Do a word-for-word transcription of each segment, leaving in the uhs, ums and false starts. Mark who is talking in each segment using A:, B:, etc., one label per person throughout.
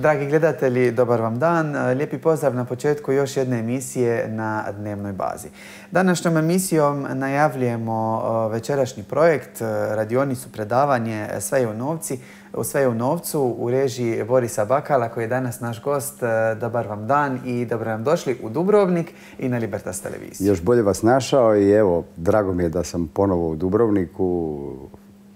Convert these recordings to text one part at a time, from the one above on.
A: Dragi gledatelji, dobar vam dan. Lijepi pozdrav na početku još jedne emisije na dnevnoj bazi. Današnjom emisijom najavljujemo večerašnji projekt, radionicu, predavanje Sve je u novci, Sve je u novcu u režiji Borisa Bakala koji je danas naš gost. Dobar vam dan i dobro nam došli u Dubrovnik i na Libertas televiziju.
B: Još bolje vas našao i evo, drago mi je da sam ponovo u Dubrovniku,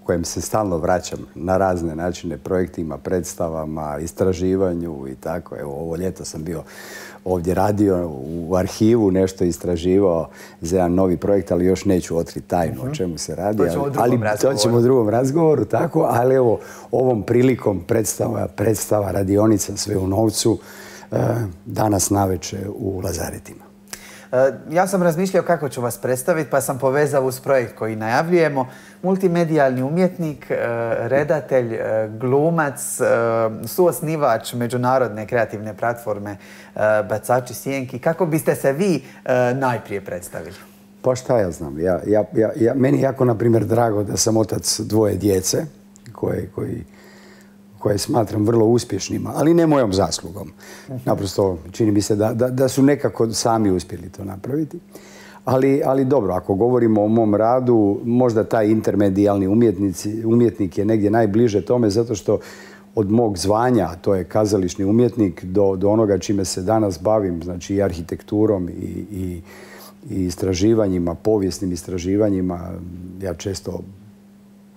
B: kojem se stalno vraćam na razne načine, projektima, predstavama, istraživanju i tako. Evo, ovo ljeto sam bio ovdje radio u arhivu, nešto istraživao za jedan novi projekt, ali još neću otkriti tajnu o čemu se radi. Ali to ćemo u drugom razgovoru, tako. Ali evo, ovom prilikom predstava, predstava radionica Sve u novcu danas navečer u Lazaretima.
A: Ja sam razmišljao kako ću vas predstaviti, pa sam povezao uz projekt koji najavljujemo. Multimedijalni umjetnik, redatelj, glumac, suosnivač međunarodne kreativne platforme Bacači sjenki. Kako biste se vi najprije predstavili?
B: Pa šta ja znam. Ja, ja, ja, meni je jako, na primjer, drago da sam otac dvoje djece koje, koji, koje smatram vrlo uspješnima, ali ne mojom zaslugom. Naprosto čini mi se da, da, da su nekako sami uspjeli to napraviti. Ali, ali dobro, ako govorimo o mom radu, možda taj intermedijalni umjetnik je negdje najbliže tome, zato što od mog zvanja, a to je kazališni umjetnik, do, do onoga čime se danas bavim, znači i arhitekturom i, i, i istraživanjima, povijesnim istraživanjima, ja često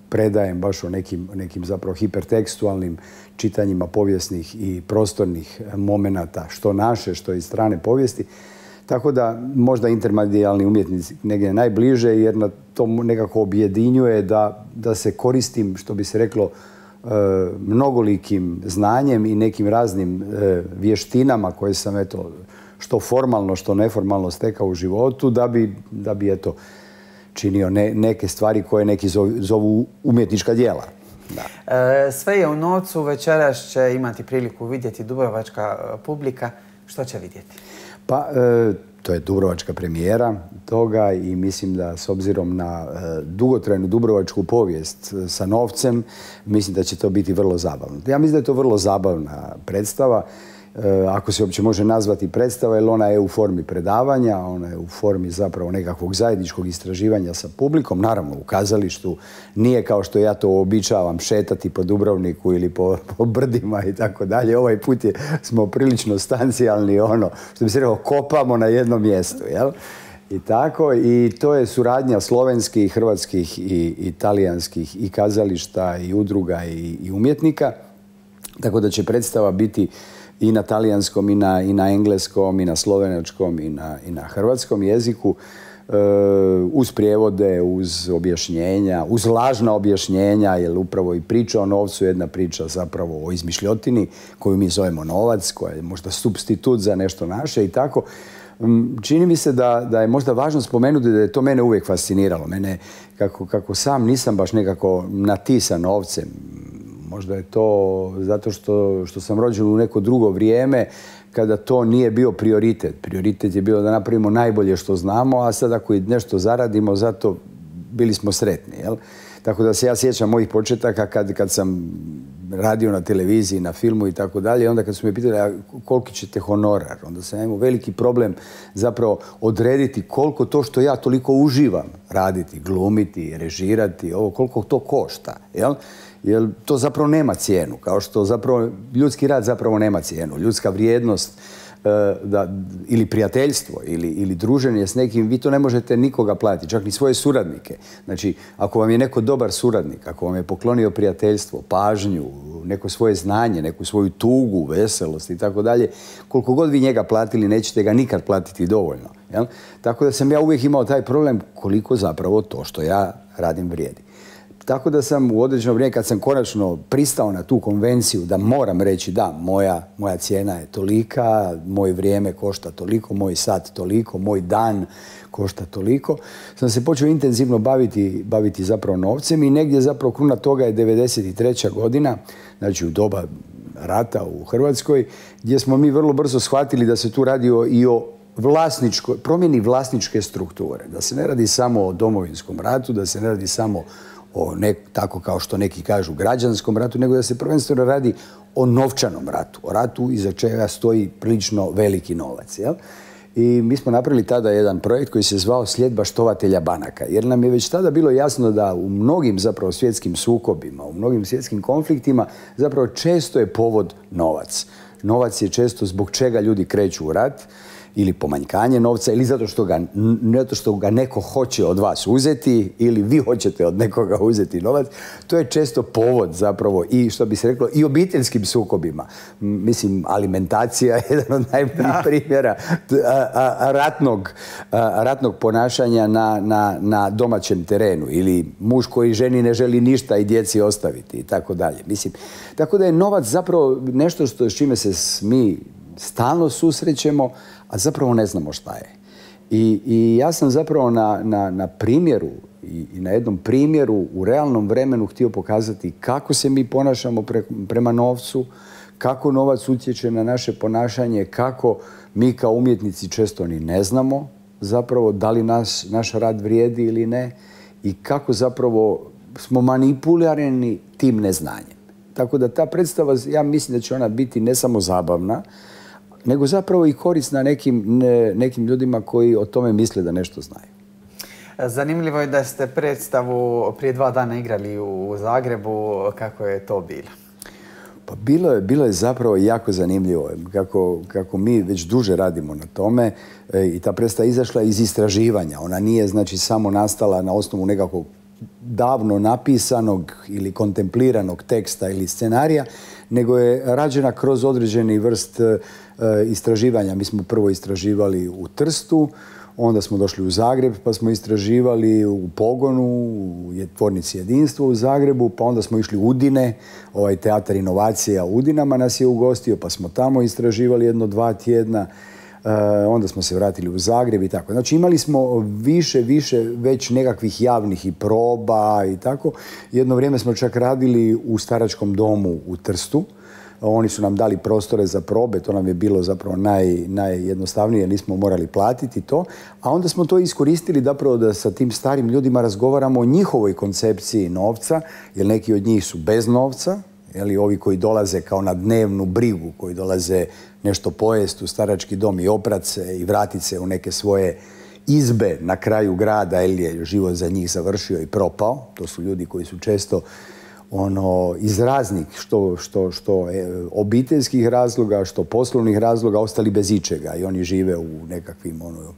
B: predajem baš o nekim, nekim zapravo hipertekstualnim čitanjima povijesnih i prostornih momenata, što naše, što iz strane povijesti. Tako da možda intermedijalni umjetnici negdje najbliže, jer na to nekako objedinjuje da, da se koristim, što bi se reklo, e, mnogolikim znanjem i nekim raznim e, vještinama koje sam, eto, što formalno, što neformalno stekao u životu, da bi, da bi eto, činio ne, neke stvari koje neki zovu, zovu umjetnička djela. Da.
A: E, Sve je u novcu, večeras će imati priliku vidjeti dubrovačka publika. Što će vidjeti?
B: Pa, e, to je dubrovačka premijera toga i mislim da s obzirom na e, dugotrajnu dubrovačku povijest e, sa novcem, mislim da će to biti vrlo zabavno. Ja mislim da je to vrlo zabavna predstava, e, ako se uopće može nazvati predstava, jer ona je u formi predavanja, ona je u formi zapravo nekakvog zajedničkog istraživanja sa publikom, naravno u kazalištu. Nije kao što ja to običavam šetati po Dubrovniku ili po, po brdima i tako dalje. Ovaj put je, smo prilično stancijalni, ono, što bi se rekao, kopamo na jednom mjestu, jel? I tako, i to je suradnja slovenskih, hrvatskih i italijanskih i kazališta i udruga i, i umjetnika. Tako da će predstava biti i na talijanskom, i na, i na engleskom, i na slovenačkom, i na, i na hrvatskom jeziku, e, uz prijevode, uz objašnjenja, uz lažna objašnjenja, jer upravo i priča o novcu je jedna priča zapravo o izmišljotini koju mi zovemo novac, koja je možda supstitut za nešto naše i tako. Čini mi se da, da je možda važno spomenuti da je to mene uvijek fasciniralo. Mene, kako, kako sam nisam baš nekako natisan novcem, možda je to zato što, što sam rođen u neko drugo vrijeme kada to nije bio prioritet. Prioritet je bio da napravimo najbolje što znamo, a sad ako i nešto zaradimo, zato bili smo sretni. Jel? Tako da se ja sjećam mojih početaka kad, kad sam radio na televiziji, na filmu i tako dalje. Onda kad su me pitali koliki ćete honorar, onda sam imao veliki problem zapravo odrediti koliko to što ja toliko uživam raditi, glumiti, režirati, ovo, koliko to košta. Jel? Jer to zapravo nema cijenu, kao što zapravo ljudski rad zapravo nema cijenu. Ljudska vrijednost da, ili prijateljstvo ili, ili druženje s nekim, vi to ne možete nikoga platiti, čak ni svoje suradnike. Znači, ako vam je neko dobar suradnik, ako vam je poklonio prijateljstvo, pažnju, neko svoje znanje, neku svoju tugu, veselost i tako dalje, koliko god vi njega platili, nećete ga nikad platiti dovoljno. Jel? Tako da sam ja uvijek imao taj problem koliko zapravo to što ja radim vrijedi. Tako da sam u određeno vrijeme, kad sam konačno pristao na tu konvenciju da moram reći da, moja, moja cijena je tolika, moje vrijeme košta toliko, moj sat toliko, moj dan košta toliko, sam se počeo intenzivno baviti, baviti zapravo novcem i negdje zapravo kruna toga je devedeset treća godina, znači u doba rata u Hrvatskoj, gdje smo mi vrlo brzo shvatili da se tu radi o, i o promjeni vlasničke strukture. Da se ne radi samo o Domovinskom ratu, da se ne radi samo o ne, tako kao što neki kažu građanskom ratu, nego da se prvenstveno radi o novčanom ratu, o ratu iza čega stoji prilično veliki novac. Jel? I mi smo napravili tada jedan projekt koji se zvao Sljedba štovatelja banaka, jer nam je već tada bilo jasno da u mnogim zapravo svjetskim sukobima, u mnogim svjetskim konfliktima zapravo često je povod novac. Novac je često zbog čega ljudi kreću u rat, ili pomanjkanje novca, ili zato što ga, zato što ga neko hoće od vas uzeti, ili vi hoćete od nekoga uzeti novac. To je često povod zapravo i, što bi se reklo, i obiteljskim sukobima. Mislim, alimentacija je jedan od najboljih primjera ratnog, ratnog ponašanja na, na, na domaćem terenu, ili muž koji ženi ne želi ništa i djeci ostaviti i tako dalje. Mislim, tako da je novac zapravo nešto što, s čime se mi stalno susrećemo, a zapravo ne znamo šta je. I, i ja sam zapravo na, na, na primjeru i, i na jednom primjeru u realnom vremenu htio pokazati kako se mi ponašamo pre, prema novcu, kako novac utječe na naše ponašanje, kako mi kao umjetnici često ni ne znamo zapravo da li nas, naš rad vrijedi ili ne i kako zapravo smo manipulirani tim neznanjem. Tako da ta predstava, ja mislim da će ona biti ne samo zabavna, nego zapravo i korisna nekim, ne, nekim ljudima koji o tome misle da nešto znaju.
A: Zanimljivo je da ste predstavu prije dva dana igrali u Zagrebu. Kako je to bilo?
B: Pa bilo je, bilo je zapravo jako zanimljivo. Kako, kako mi već duže radimo na tome e, i ta predstava izašla iz istraživanja. Ona nije znači samo nastala na osnovu nekakvog davno napisanog ili kontempliranog teksta ili scenarija, nego je rađena kroz određeni vrst e, istraživanja. Mi smo prvo istraživali u Trstu, onda smo došli u Zagreb, pa smo istraživali u Pogonu, u tvornici Jedinstvo u Zagrebu, pa onda smo išli u Udine, ovaj teatar inovacija u Udinama nas je ugostio, pa smo tamo istraživali jedno dva tjedna. Uh, onda smo se vratili u Zagreb i tako. Znači imali smo više, više već nekakvih javnih i proba i tako. Jedno vrijeme smo čak radili u staračkom domu u Trstu. Oni su nam dali prostore za probe, to nam je bilo zapravo naj, najjednostavnije, nismo morali platiti to. A onda smo to iskoristili zapravo da sa tim starim ljudima razgovaramo o njihovoj koncepciji novca, jer neki od njih su bez novca, jeli, ovi koji dolaze kao na dnevnu brigu, koji dolaze nešto pojesti u starački dom i oprat se i vratit se u neke svoje izbe na kraju grada, jer je život za njih završio i propao. To su ljudi koji su često ono, iz raznih, što, što, što e, obiteljskih razloga, što poslovnih razloga, ostali bez ičega i oni žive u nekakvim ono,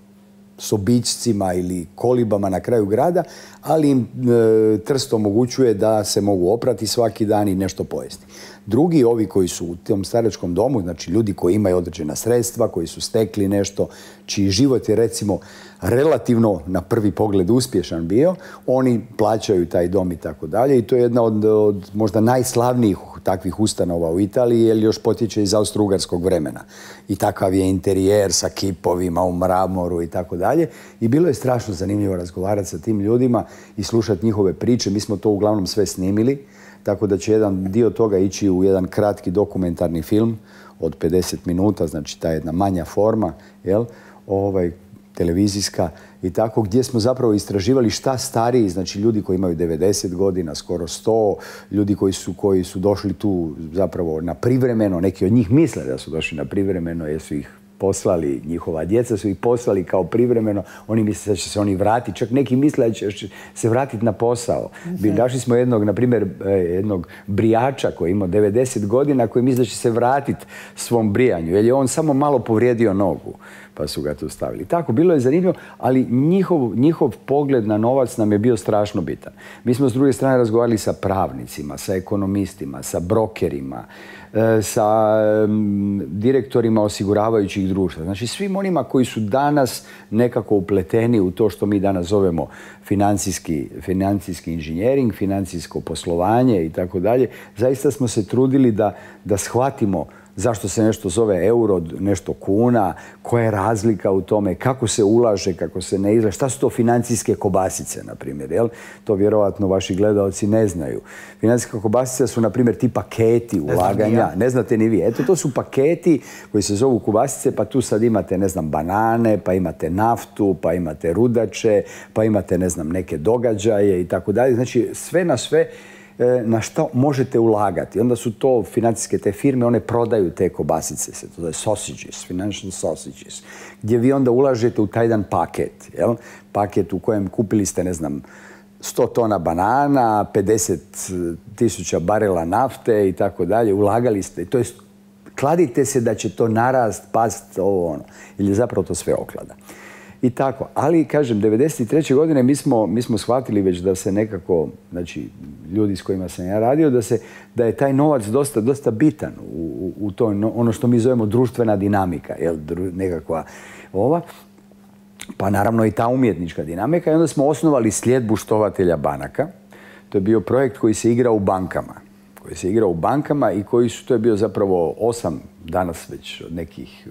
B: sobičcima ili kolibama na kraju grada, ali im e, Trst omogućuje da se mogu oprati svaki dan i nešto pojesti. Drugi, ovi koji su u tom staračkom domu, znači ljudi koji imaju određena sredstva, koji su stekli nešto, čiji život je recimo relativno na prvi pogled uspješan bio, oni plaćaju taj dom i tako dalje i to je jedna od, od možda najslavnijih takvih ustanova u Italiji, jer još potječe iz austro-ugarskog vremena. I takav je interijer sa kipovima u mramoru i tako dalje. I bilo je strašno zanimljivo razgovarati sa tim ljudima i slušati njihove priče. Mi smo to uglavnom sve snimili, tako da će jedan dio toga ići u jedan kratki dokumentarni film od pedeset minuta, znači ta jedna manja forma, jel? Ovaj, televizijska i tako, gdje smo zapravo istraživali šta stariji, znači ljudi koji imaju devedeset godina, skoro sto, ljudi koji su, koji su došli tu zapravo na privremeno, neki od njih misle da su došli na privremeno jer su ih poslali, njihova djeca su ih poslali kao privremeno, oni misle da će se oni vratiti, čak neki misle da će se vratiti na posao. Mm-hmm. Našli smo jednog, na primjer, jednog brijača koji ima devedeset godina, koji misle da će se vratiti svom brijanju, jer je on samo malo povrijedio nogu, pa su ga tu stavili. Tako, bilo je zanimljivo, ali njihov, njihov pogled na novac nam je bio strašno bitan. Mi smo s druge strane razgovarali sa pravnicima, sa ekonomistima, sa brokerima, sa direktorima osiguravajućih društva. Znači svim onima koji su danas nekako upleteni u to što mi danas zovemo financijski, financijski inženjering, financijsko poslovanje i tako dalje. Zaista smo se trudili da, da shvatimo Zašto se nešto zove euro, nešto kuna, koja je razlika u tome, kako se ulaže, kako se ne izlaže, šta su to financijske kobasice, na primjer, jel? To vjerojatno vaši gledalci ne znaju. Financijske kobasice su, na primjer, ti paketi ulaganja, ne znate ni vi. Eto, to su paketi koji se zovu kobasice, pa tu sad imate, ne znam, banane, pa imate naftu, pa imate rudače, pa imate, ne znam, neke događaje i tako dalje. Znači, sve na sve na što možete ulagati. Onda su to financijske te firme, one prodaju te kobasice, se to je sausages, financial sausages, gdje vi onda ulažete u taj jedan paket, jel? Paket u kojem kupili ste, ne znam, sto tona banana, pedeset tisuća barela nafte i tako dalje, ulagali ste, to jest kladite se da će to narast, past, ovo ono, ili zapravo to sve oklada. I tako, ali kažem, devedeset treće godine mi smo, mi smo shvatili već da se nekako, znači ljudi s kojima sam ja radio, da, se, da je taj novac dosta, dosta bitan u, u to, ono što mi zovemo društvena dinamika, jel, nekakva ova, pa naravno i ta umjetnička dinamika. I onda smo osnovali sljedbu štovatelja banaka. To je bio projekt koji se igra u bankama. Koji se igra u bankama i koji su, to je bio zapravo osam danas već od nekih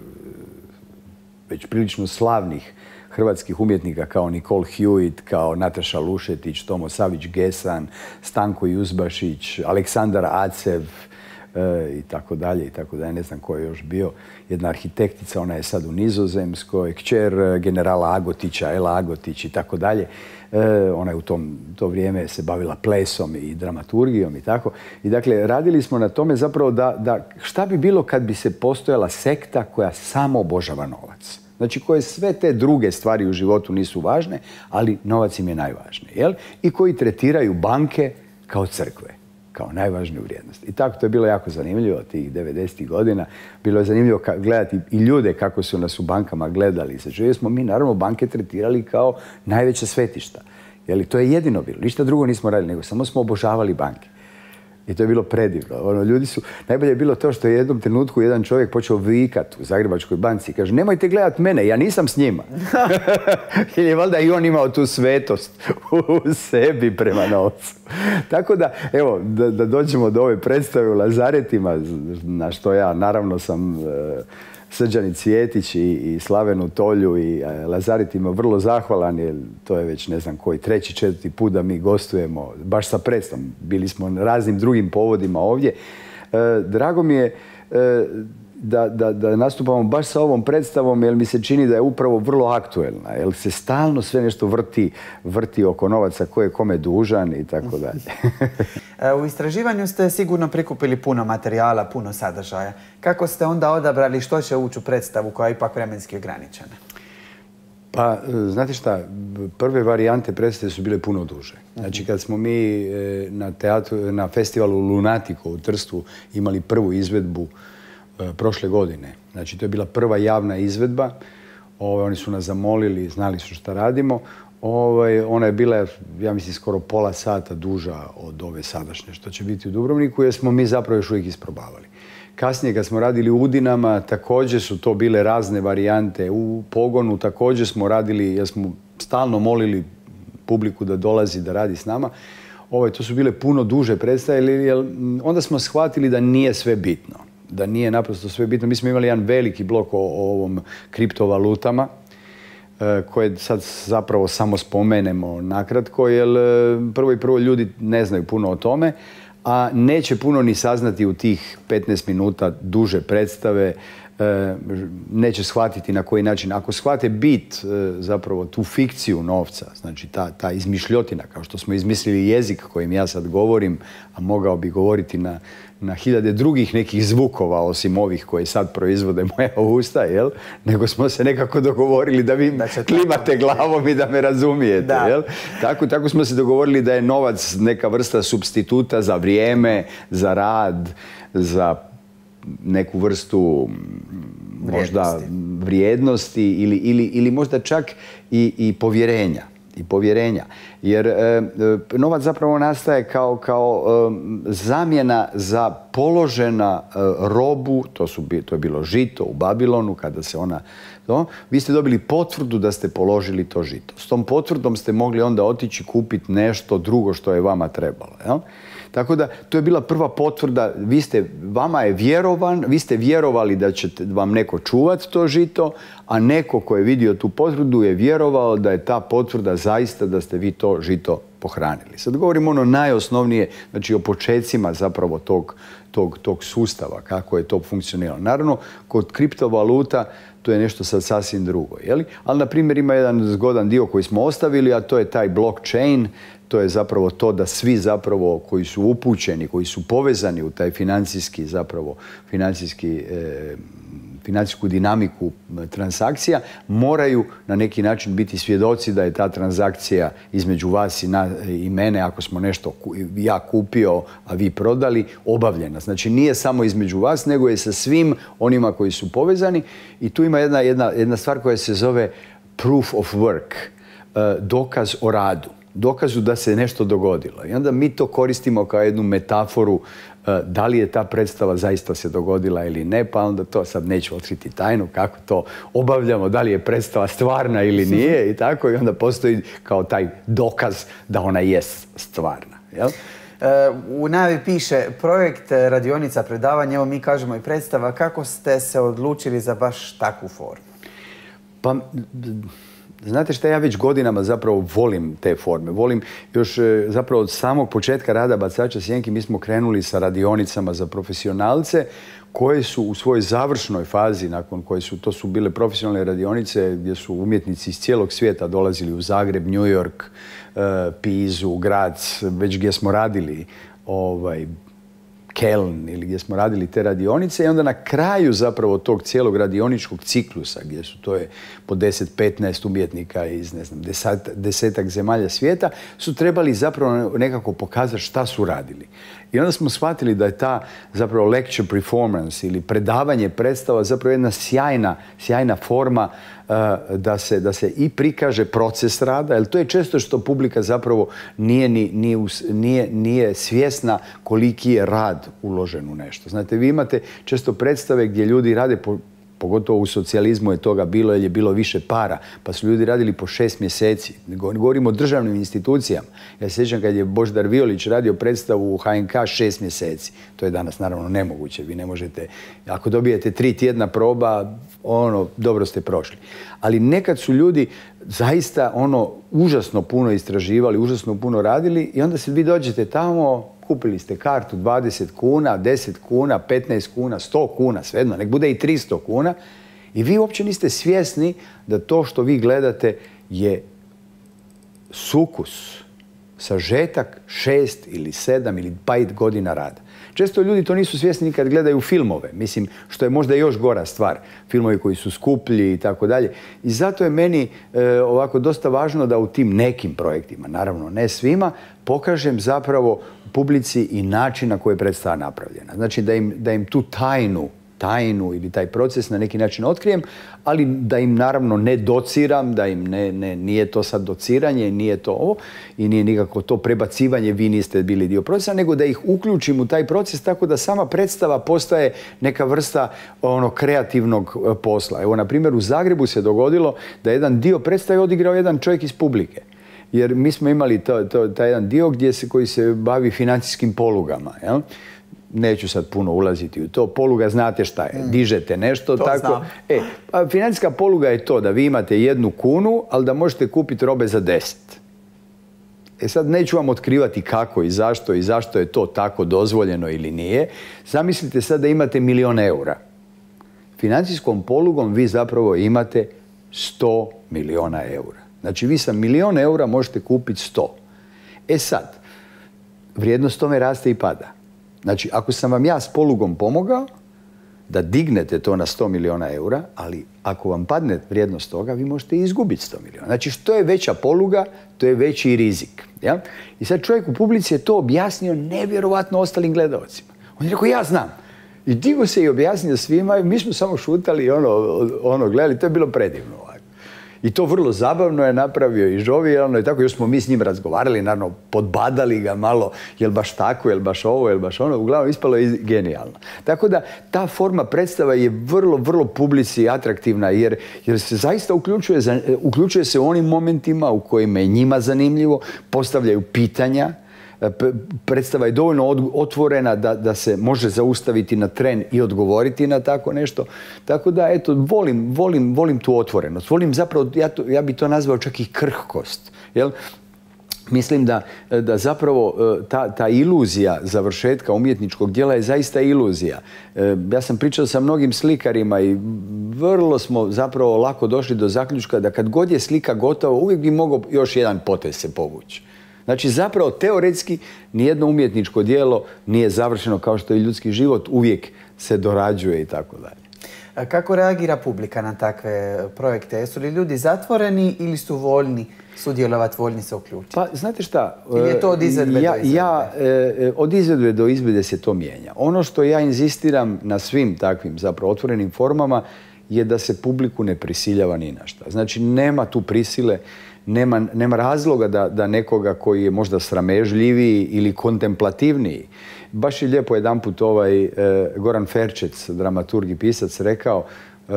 B: već prilično slavnih hrvatskih umjetnika kao Nicole Hewitt, kao Nataša Lušetić, Tomo Savić-Gesan, Stanko Juzbašić, Aleksandar Acev e, i tako dalje i tako dalje. Ne znam ko je još bio. Jedna arhitektica, ona je sad u Nizozemskoj, kćer generala Agotića, Ela Agotić i tako dalje. E, ona je u tom, to vrijeme se bavila plesom i dramaturgijom i tako. I dakle, radili smo na tome zapravo da, da šta bi bilo kad bi se postojala sekta koja samo obožava novac. Znači, koje sve te druge stvari u životu nisu važne, ali novac im je najvažniji, jel? I koji tretiraju banke kao crkve, kao najvažniju vrijednost. I tako to je bilo jako zanimljivo tih devedesetih godina. Bilo je zanimljivo gledati i ljude kako su nas u bankama gledali. Znači, smo mi naravno banke tretirali kao najveća svetišta. Jel? To je jedino bilo. Ništa drugo nismo radili, nego samo smo obožavali banke. I to je bilo predivno. Ono, ljudi su, najbolje je bilo to što je u jednom trenutku jedan čovjek počeo vikat u Zagrebačkoj banci i kaže, nemojte gledat mene, ja nisam s njima. Jer je valjda i on imao tu svetost u sebi prema novcu. Tako da, evo, da, da dođemo do ove predstave u Lazaretima, na što ja naravno sam e, Srđani Cvjetić i, i Slavenu Tolju i e, Lazaretima vrlo zahvalan, jer to je već ne znam koji treći, četvrti put da mi gostujemo, baš sa predstavom. Bili smo na raznim drugim povodima ovdje. E, drago mi je e, da, da, da nastupamo baš sa ovom predstavom, jer mi se čini da je upravo vrlo aktuelna, jer se stalno sve nešto vrti, vrti oko novaca, ko je kome dužan i tako dalje.
A: U istraživanju ste sigurno prikupili puno materijala, puno sadržaja. Kako ste onda odabrali što će ući u predstavu koja je ipak vremenski ograničena?
B: Pa, znate šta, prve varijante predstave su bile puno duže. Znači, kad smo mi na, teatru, na festivalu Lunatico u Trstu imali prvu izvedbu prošle godine. Znači, to je bila prva javna izvedba. Ove, oni su nas zamolili, znali su šta radimo. Ove, ona je bila, ja mislim, skoro pola sata duža od ove sadašnje što će biti u Dubrovniku, jer smo mi zapravo još uvijek isprobavali. Kasnije, kad smo radili u Udinama, također su to bile razne varijante. U Pogonu također smo radili, jer smo stalno molili publiku da dolazi, da radi s nama. Ove, to su bile puno duže predstave, jer onda smo shvatili da nije sve bitno. Da nije naprosto sve bitno. Mi smo imali jedan veliki blok o, o ovom kriptovalutama, e, koje sad zapravo samo spomenemo nakratko, jer prvo i prvo ljudi ne znaju puno o tome, a neće puno ni saznati u tih petnaest minuta duže predstave, e, neće shvatiti na koji način. Ako shvate bit, e, zapravo tu fikciju novca, znači ta, ta izmišljotina, kao što smo izmislili jezik kojim ja sad govorim, a mogao bi govoriti na na hiljade drugih nekih zvukova, osim ovih koje sad proizvode moja usta, jel? Nego smo se nekako dogovorili da vi klimate glavom i da me razumijete, da. Jel? Tako, tako smo se dogovorili da je novac neka vrsta supstituta za vrijeme, za rad, za neku vrstu možda vrijednosti, vrijednosti ili, ili, ili možda čak i, i povjerenja. I povjerenja. Jer e, novac zapravo nastaje kao, kao e, zamjena za položena e, robu, to, su, to je bilo žito u Babilonu, kada se ona... To, vi ste dobili potvrdu da ste položili to žito. S tom potvrdom ste mogli onda otići kupiti nešto drugo što je vama trebalo. Jel? Tako da, to je bila prva potvrda, vi ste, vama je vjerovan, vi ste vjerovali da će vam neko čuvati to žito, a neko ko je vidio tu potvrdu je vjerovao da je ta potvrda zaista da ste vi to žito pohranili. Sad govorimo ono najosnovnije, znači o počecima zapravo tog, tog, tog sustava, kako je to funkcioniralo. Naravno, kod kriptovaluta to je nešto sad sasvim drugo. Jeli? Ali, na primjer, ima jedan zgodan dio koji smo ostavili, a to je taj blockchain. To je zapravo to da svi zapravo koji su upućeni, koji su povezani u taj financijski zapravo, financijski, e, financijsku dinamiku transakcija, moraju na neki način biti svjedoci da je ta transakcija između vas i, na, i mene, ako smo nešto ja kupio, a vi prodali, obavljena. Znači nije samo između vas, nego je sa svim onima koji su povezani. I tu ima jedna, jedna, jedna stvar koja se zove proof of work, e, dokaz o radu. Dokazu da se nešto dogodilo. I onda mi to koristimo kao jednu metaforu da li je ta predstava zaista se dogodila ili ne, pa onda to sad neću otkriti tajnu kako to obavljamo, da li je predstava stvarna ili nije i tako, i onda postoji kao taj dokaz da ona jest stvarna. Jel?
A: U najavi piše projekt radionica predavanja, evo mi kažemo i predstava. Kako ste se odlučili za baš takvu formu?
B: Pa, znate šta, ja već godinama zapravo volim te forme. Volim još zapravo od samog početka rada Bacača sjenki mi smo krenuli sa radionicama za profesionalce koje su u svojoj završnoj fazi, nakon koje su, to su bile profesionalne radionice gdje su umjetnici iz cijelog svijeta dolazili u Zagreb, New York, Pizu, Graz, već gdje smo radili ovaj, Keln ili gdje smo radili te radionice, i onda na kraju zapravo tog cijelog radioničkog ciklusa gdje su to je po deset petnaest umjetnika iz ne znam, deset, desetak zemalja svijeta su trebali zapravo nekako pokazati šta su radili. I onda smo shvatili da je ta zapravo lecture performance ili predavanje predstava zapravo jedna sjajna, sjajna forma uh, da, se, da se i prikaže proces rada, jer to je često što publika zapravo nije, ni, nije, nije, nije svjesna koliki je rad uložen u nešto. Znate, vi imate često predstave gdje ljudi rade po pogotovo u socijalizmu je toga bilo jer je bilo više para, pa su ljudi radili po šest mjeseci. Govorimo o državnim institucijama. Ja se sjećam kad je Božidar Violić radio predstavu u H N K šest mjeseci. To je danas naravno nemoguće. Vi ne možete, ako dobijete tri tjedna proba, ono, dobro ste prošli. Ali nekad su ljudi zaista ono užasno puno istraživali, užasno puno radili i onda se vi dođete tamo, kupili ste kartu dvadeset kuna, deset kuna, petnaest kuna, sto kuna, svejedno, nek bude i tristo kuna i vi uopće niste svjesni da to što vi gledate je sukus, sažetak šest ili sedam ili pet godina rada. Često ljudi to nisu svjesni ni kad gledaju filmove, mislim, što je možda još gora stvar. Filmovi koji su skuplji i tako dalje. I zato je meni e, ovako dosta važno da u tim nekim projektima, naravno ne svima, pokažem zapravo publici i način na koji je predstava napravljena. Znači da im, da im tu tajnu, tajnu ili taj proces na neki način otkrijem, ali da im naravno ne dociram, da im ne, ne, nije to sad dociranje, nije to ovo i nije nikako to prebacivanje, vi niste bili dio procesa, nego da ih uključim u taj proces tako da sama predstava postaje neka vrsta ono kreativnog posla. Evo, na primjer, u Zagrebu se dogodilo da jedan dio predstave odigrao jedan čovjek iz publike. Jer mi smo imali to, to, taj jedan dio gdje se, koji se bavi financijskim polugama. Jel? Neću sad puno ulaziti u to. Poluga znate šta je. Dižete nešto.
A: To
B: tako.
A: Znam.
B: E, pa financijska poluga je to da vi imate jednu kunu, ali da možete kupiti robe za deset. E sad neću vam otkrivati kako i zašto i zašto je to tako dozvoljeno ili nije. Zamislite sad da imate milion eura. Financijskom polugom vi zapravo imate sto miliona eura. Znači vi sa milion eura možete kupiti sto. E sad, vrijednost tome raste i pada. Znači, ako sam vam ja s polugom pomogao da dignete to na sto miliona eura, ali ako vam padne vrijednost toga, vi možete izgubiti sto miliona. Znači, što je veća poluga, to je veći rizik. Ja? I sad čovjek u publici je to objasnio nevjerovatno ostalim gledalcima. On je rekao, ja znam. I digo se i objasnio svima i mi smo samo šutali i ono, ono gledali. To je bilo predivno. I to vrlo zabavno je napravio i žovijalno i tako. Još smo mi s njim razgovarali, naravno podbadali ga malo, jel baš tako, jel baš ovo, jel baš ono. Uglavnom ispalo je genijalno. Tako da ta forma predstava je vrlo, vrlo publici atraktivna jer, jer se zaista uključuje, uključuje se u onim momentima u kojima je njima zanimljivo, postavljaju pitanja, predstava je dovoljno otvorena da, da se može zaustaviti na tren i odgovoriti na tako nešto. Tako da, eto, volim, volim, volim tu otvorenost. Volim zapravo, ja, to, ja bi to nazvao čak i krhkost. Jel? Mislim da, da zapravo ta, ta iluzija završetka umjetničkog djela je zaista iluzija. Ja sam pričao sa mnogim slikarima i vrlo smo zapravo lako došli do zaključka da kad god je slika gotova, uvijek bi mogao još jedan potez se povući. Znači, zapravo, teoretski, nijedno umjetničko djelo nije završeno kao što je ljudski život, uvijek se dorađuje i tako dalje.
A: Kako reagira publika na takve projekte? Jesu li ljudi zatvoreni ili su voljni sudjelovati, voljni se uključiti?
B: Pa, znate šta?
A: Ili je to od izvedbe
B: ja,
A: do izvedbe?
B: Ja, e, od izvedbe do izvedbe se to mijenja. Ono što ja inzistiram na svim takvim zapravo otvorenim formama je da se publiku ne prisiljava ni na šta. Znači, nema tu prisile, nema, nema razloga da, da nekoga koji je možda sramežljiviji ili kontemplativniji. Baš je lijepo jedanput ovaj e, Goran Ferčec, dramaturg i pisac, rekao, e,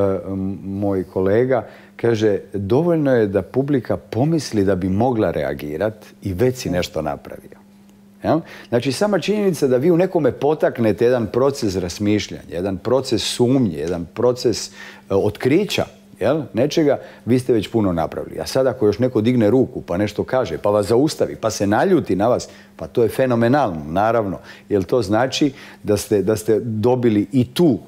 B: moj kolega, kaže, dovoljno je da publika pomisli da bi mogla reagirati i već si nešto napravio. Jel? Znači, sama činjenica da vi u nekome potaknete jedan proces razmišljanja, jedan proces sumnje, jedan proces e, otkrića, jel? Nečega, vi ste već puno napravili. A sad ako još neko digne ruku pa nešto kaže, pa vas zaustavi, pa se naljuti na vas, pa to je fenomenalno, naravno. Jer to znači da ste, da ste dobili i tu,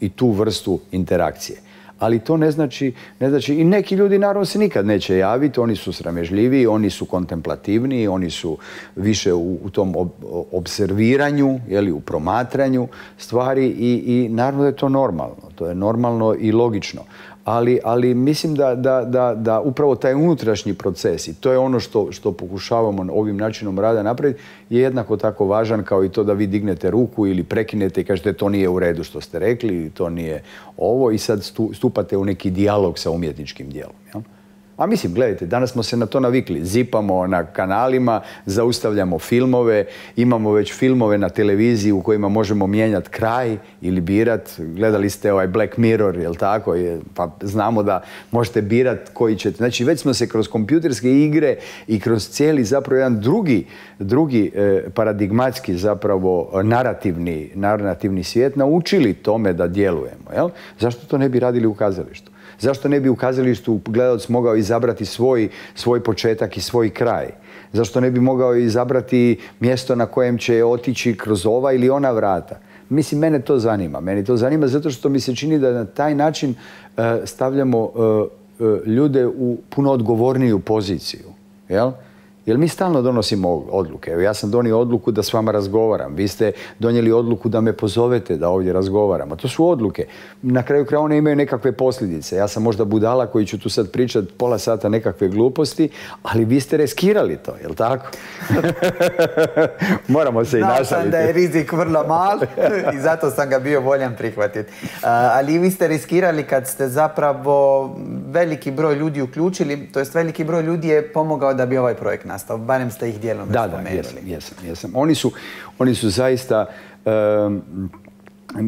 B: i tu vrstu interakcije. Ali to ne znači, ne znači, i neki ljudi naravno se nikad neće javiti, oni su sramežljiviji, oni su kontemplativniji, oni su više u, u tom ob, observiranju, jeli, u promatranju stvari i, i naravno da je to normalno, to je normalno i logično. Ali, ali mislim da, da, da, da upravo taj unutrašnji proces, i to je ono što, što pokušavamo ovim načinom rada napraviti, je jednako tako važan kao i to da vi dignete ruku ili prekinete i kažete to nije u redu što ste rekli ili to nije ovo i sad stupate u neki dijalog sa umjetničkim djelom. Jel? A mislim, gledajte, danas smo se na to navikli. Zipamo na kanalima, zaustavljamo filmove, imamo već filmove na televiziji u kojima možemo mijenjati kraj ili birat. Gledali ste ovaj Black Mirror, jel tako? Pa znamo da možete birat koji ćete. Znači, već smo se kroz kompjuterske igre i kroz cijeli zapravo jedan drugi, drugi eh, paradigmatski zapravo narativni, narativni svijet naučili tome da djelujemo. Jel? Zašto to ne bi radili u kazalištu? Zašto ne bi u kazalištu gledalac mogao izabrati svoj, svoj početak i svoj kraj? Zašto ne bi mogao izabrati mjesto na kojem će otići kroz ova ili ona vrata? Mislim, mene to zanima. Mene to zanima zato što mi se čini da na taj način uh, stavljamo uh, uh, ljude u puno odgovorniju poziciju. Jel? Jer mi stalno donosimo odluke. Evo, ja sam donio odluku da s vama razgovaram. Vi ste donijeli odluku da me pozovete da ovdje razgovaramo. To su odluke. Na kraju kraja one imaju nekakve posljedice. Ja sam možda budala koji ću tu sad pričati pola sata nekakve gluposti, ali vi ste riskirali to, jel tako? Moramo se i našaliti.
A: Znao sam da je rizik vrlo mal i zato sam ga bio voljan prihvatiti. Uh, ali vi ste riskirali kad ste zapravo veliki broj ljudi uključili, to jest veliki broj ljudi je pomogao da bi ovaj projekt nastao. Barem ste ih dijelom
B: da, spomenuli. Da, jesam, jesam, jesam. Oni su, oni su zaista... Um,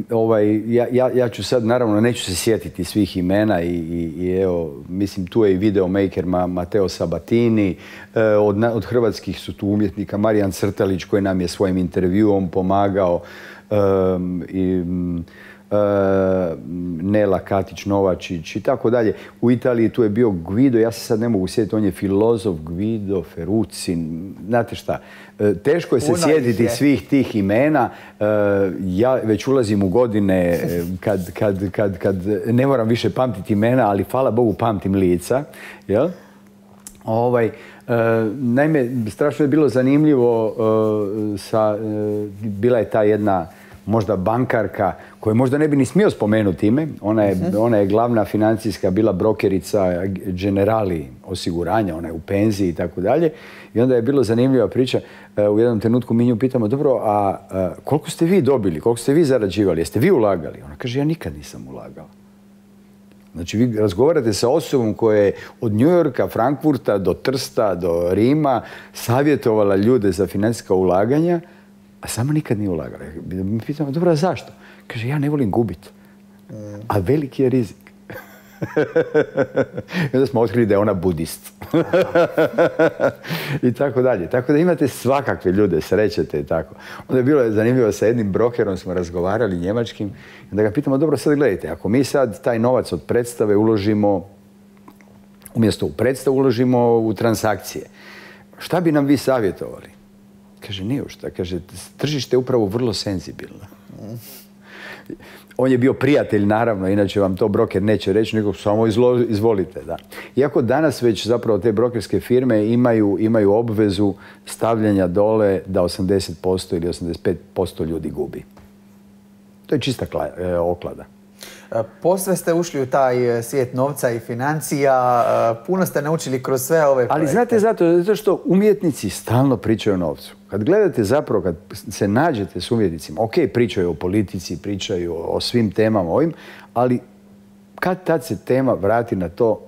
B: ovaj, ja, ja, ja ću sad, naravno, neću se sjetiti svih imena i, i, i evo, mislim, tu je i videomaker Ma, Mateo Sabatini, e, od, od hrvatskih su tu umjetnika Marijan Crtalić koji nam je svojim intervjuom pomagao um, i... Uh, Nela Katić-Novačić i tako dalje. U Italiji tu je bio Guido, ja se sad ne mogu sjetiti, on je filozof Guido Ferrucci. Znate šta, uh, teško je se Puno sjetiti je. svih tih imena. Uh, ja već ulazim u godine kad, kad, kad, kad ne moram više pamtiti imena, ali hvala Bogu pamtim lica. Jel? Ovaj, uh, naime, strašno je bilo zanimljivo, uh, sa, uh, bila je ta jedna možda bankarka, koju možda ne bi ni smio spomenuti ime. Ona je, uh-huh. ona je glavna financijska, bila brokerica Generali osiguranja, ona je u penziji i tako dalje. I onda je bilo zanimljiva priča. U jednom trenutku mi nju pitamo, dobro, a, a koliko ste vi dobili, koliko ste vi zarađivali, jeste vi ulagali? Ona kaže, ja nikad nisam ulagala. Znači, vi razgovarate sa osobom koja je od New Yorka, Frankfurta do Trsta, do Rima savjetovala ljude za financijska ulaganja, a sama nikad nije ulagala. Mi pitamo, dobro, a zašto? Kaže, ja ne volim gubiti. A veliki je rizik. I onda smo otkrili da je ona budist. I tako dalje. Tako da imate svakakve ljude, srećete i tako. Onda je bilo zanimljivo, sa jednim brokerom smo razgovarali njemačkim, da ga pitamo, dobro, sad gledajte, ako mi sad taj novac od predstave uložimo, umjesto u predstavu uložimo u transakcije, šta bi nam vi savjetovali? Kaže, nije u šta. Kaže, tržište je upravo vrlo senzibilno. On je bio prijatelj, naravno, inače vam to broker neće reći, nego samo izlo, izvolite. Da. Iako danas već zapravo te brokerske firme imaju, imaju obvezu stavljanja dole da osamdeset posto ili osamdeset pet posto ljudi gubi. To je čista kla, e, oklada.
A: Posve ste ušli u taj svijet novca i financija, puno ste naučili kroz sve ove projekte.
B: Ali znate, zato, zato što umjetnici stalno pričaju o novcu. Kad gledate zapravo, kad se nađete s umjetnicima, ok, pričaju o politici, pričaju o svim temama ovim, ali kad tad se tema vrati na to,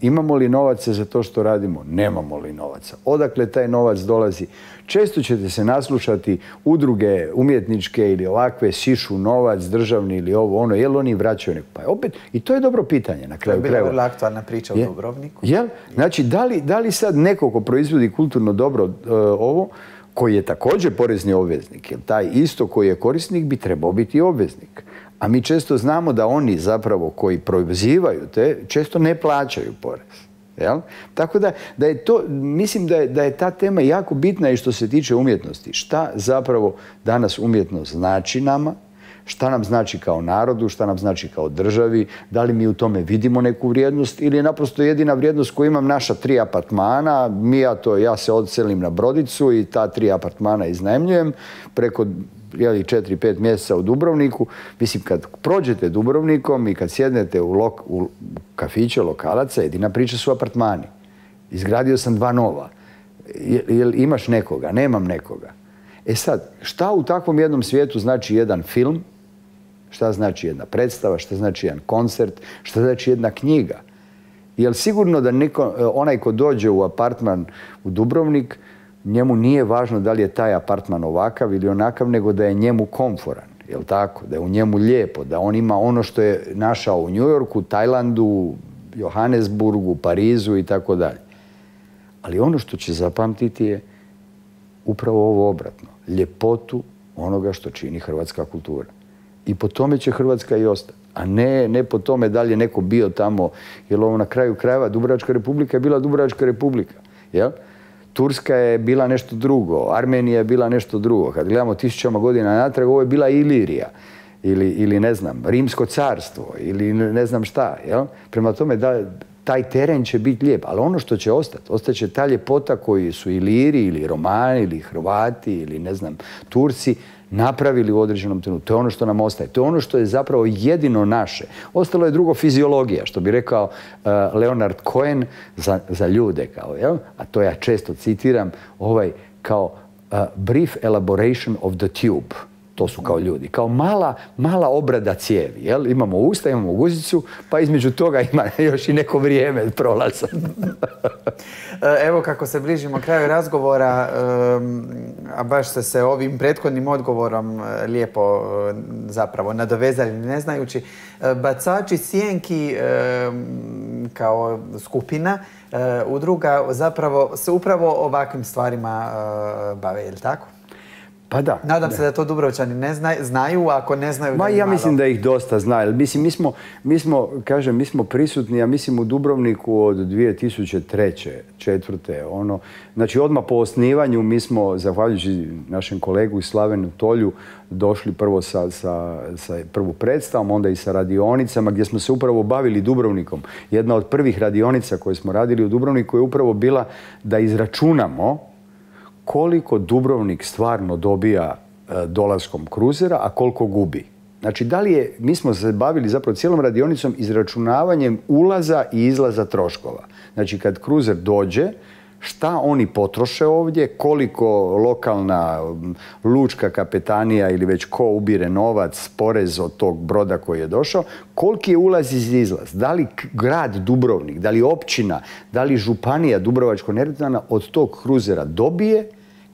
B: imamo li novaca za to što radimo, nemamo li novaca, odakle taj novac dolazi. Često ćete se naslušati udruge umjetničke ili ovakve sišu novac, državni ili ovo, ono, jel oni vraćaju neko? Pa opet, i to je dobro pitanje na kraju krajeva.
A: To je bila vrlo aktualna priča
B: je,
A: u Dubrovniku.
B: Jel? Znači, da li, da li sad neko ko proizvodi kulturno dobro uh, ovo, koji je također porezni obveznik, jer taj isto koji je korisnik bi trebao biti obveznik. A mi često znamo da oni zapravo koji proizivaju te, često ne plaćaju porez. Jel? Tako da, da je to, mislim da je, da je ta tema jako bitna i što se tiče umjetnosti. Šta zapravo danas umjetnost znači nama, šta nam znači kao narodu, šta nam znači kao državi, da li mi u tome vidimo neku vrijednost ili je naprosto jedina vrijednost koju imam naša tri apartmana, mi ja, to, ja se odselim na brodicu i ta tri apartmana iznajmljujem preko jeli, četiri, pet mjeseca u Dubrovniku. Mislim, kad prođete Dubrovnikom i kad sjednete u, lok, u kafiće lokalaca, jedina priča su apartmani. Izgradio sam dva nova. Jel imaš nekoga? Nemam nekoga. E sad, šta u takvom jednom svijetu znači jedan film? Šta znači jedna predstava? Šta znači jedan koncert? Šta znači jedna knjiga? Jel sigurno da neko, onaj ko dođe u apartman u Dubrovnik, njemu nije važno da li je taj apartman ovakav ili onakav, nego da je njemu komforan, jel tako? Da je u njemu lijepo, da on ima ono što je našao u New Yorku, Tajlandu, Johannesburgu, Parizu i tako dalje. Ali ono što će zapamtiti je upravo ovo obratno. Ljepotu onoga što čini hrvatska kultura. I po tome će Hrvatska i ostati. A ne, ne po tome da li je neko bio tamo, jer ovo na kraju krajeva Dubrovačka republika je bila Dubrovačka republika, jel? Turska je bila nešto drugo, Armenija je bila nešto drugo. Kad gledamo tisućama godina natrag, ovo je bila Ilirija ili, ili ne znam, Rimsko carstvo ili ne znam šta. Jel? Prema tome, da, taj teren će biti lijep, ali ono što će ostati, ostaće ta ljepota koji su Iliri ili Romani ili Hrvati ili ne znam, Turci napravili u određenom trenutku. To je ono što nam ostaje. To je ono što je zapravo jedino naše. Ostalo je drugo fiziologija, što bi rekao uh, Leonard Cohen za, za ljude. Kao, jel? A to ja često citiram, ovaj kao uh, brief elaboration of the tube. To su kao ljudi. Kao mala, mala obrada cijevi. Jel? Imamo usta, imamo guzicu, pa između toga ima još i neko vrijeme prolaza.
A: Evo kako se bližimo kraju razgovora, a baš ste se ovim prethodnim odgovorom lijepo zapravo nadovezali ne znajući. Bacači sjenki kao skupina, udruga zapravo se upravo ovakvim stvarima bave, je li tako?
B: Pa da.
A: Nadam se da to Dubrovčani ne znaju, znaju, ako ne znaju...
B: Ma ja mislim da ih dosta znaju. Mislim, mi smo, mi smo, kažem, mi smo prisutni, ja mislim, u Dubrovniku od dvije tisuće treće, četvrte, ono, znači odmah po osnivanju mi smo, zahvaljujući našem kolegu iz Slavenu Tolju, došli prvo sa, sa, sa prvu predstavom, onda i sa radionicama gdje smo se upravo bavili Dubrovnikom. Jedna od prvih radionica koje smo radili u Dubrovniku je upravo bila da izračunamo koliko Dubrovnik stvarno dobija e, dolaskom kruzera, a koliko gubi. Znači, da li je, mi smo se bavili zapravo cijelom radionicom izračunavanjem ulaza i izlaza troškova. Znači, kad kruzer dođe, šta oni potroše ovdje, koliko lokalna lučka kapetanija ili već ko ubire novac, porez od tog broda koji je došao, koliki je ulaz i izlaz. Da li grad Dubrovnik, da li općina, da li županija Dubrovačko-neretvanska od tog kruzera dobije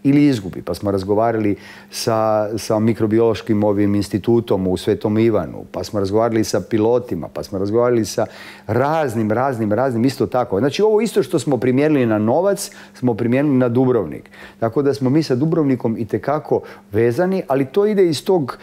B: ili izgubi. Pa smo razgovarali sa, sa mikrobiološkim ovim institutom u Svetom Ivanu, pa smo razgovarali sa pilotima, pa smo razgovarali sa raznim, raznim, raznim isto tako. Znači ovo isto što smo primijenili na Novac, smo primijenili na Dubrovnik. Tako da smo mi sa Dubrovnikom itekako vezani, ali to ide iz tog,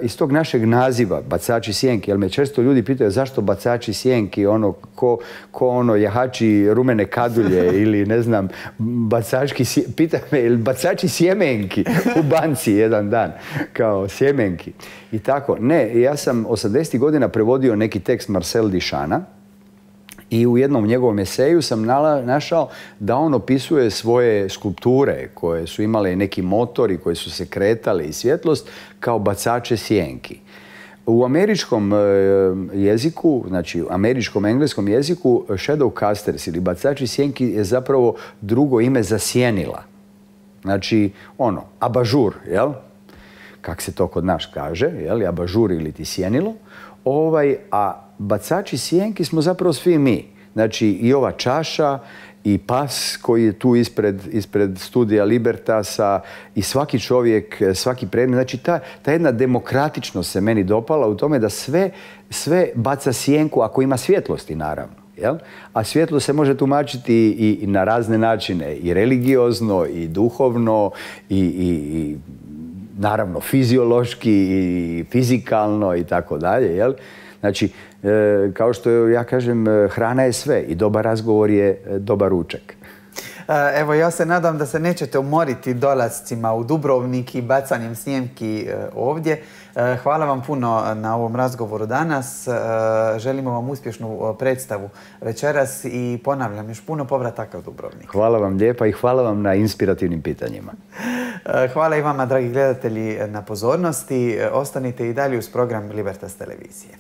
B: iz tog našeg naziva, bacači sjenki. Jer me često ljudi pitaju zašto bacači sjenki, ono, ko, ko ono, jahači rumene kadulje ili ne znam, bacački, pita me, ili bacači sjemenki u banci jedan dan, kao sjemenki. I tako, ne, ja sam osamdesetih godina prevodio neki tekst Marcel Duchampa i u jednom njegovom eseju sam našao da on opisuje svoje skulpture koje su imale neki motor i koje su se kretale i svjetlost kao bacače sjenki. U američkom jeziku, znači u američkom engleskom jeziku, shadowcasters ili bacači sjenki je zapravo drugo ime za sjenila. Znači, ono, abažur, jel? Kak se to kod nas kaže, jel? Abažur ili ti sjenilo. Ovaj, a bacači sjenki smo zapravo svi mi. Znači, i ova čaša, i pas koji je tu ispred, ispred studija Libertasa i svaki čovjek, svaki predmet. Znači, ta, ta jedna demokratičnost se meni dopala u tome da sve, sve baca sjenku ako ima svjetlosti, naravno. Jel? A svjetlo se može tumačiti i, i na razne načine, i religiozno, i duhovno, i, i, i naravno fiziološki, i fizikalno i tako dalje. Jel? Znači, e, kao što ja kažem, hrana je sve i dobar razgovor je dobar ručak.
A: Evo, ja se nadam da se nećete umoriti dolascima u Dubrovnik i bacanjem snijemki ovdje. Hvala vam puno na ovom razgovoru danas. Želimo vam uspješnu predstavu večeras i ponavljam, još puno povrataka u Dubrovnik.
B: Hvala vam lijepa i hvala vam na inspirativnim pitanjima.
A: Hvala i vama, dragi gledatelji, na pozornosti. Ostanite i dalje uz program Libertas televizije.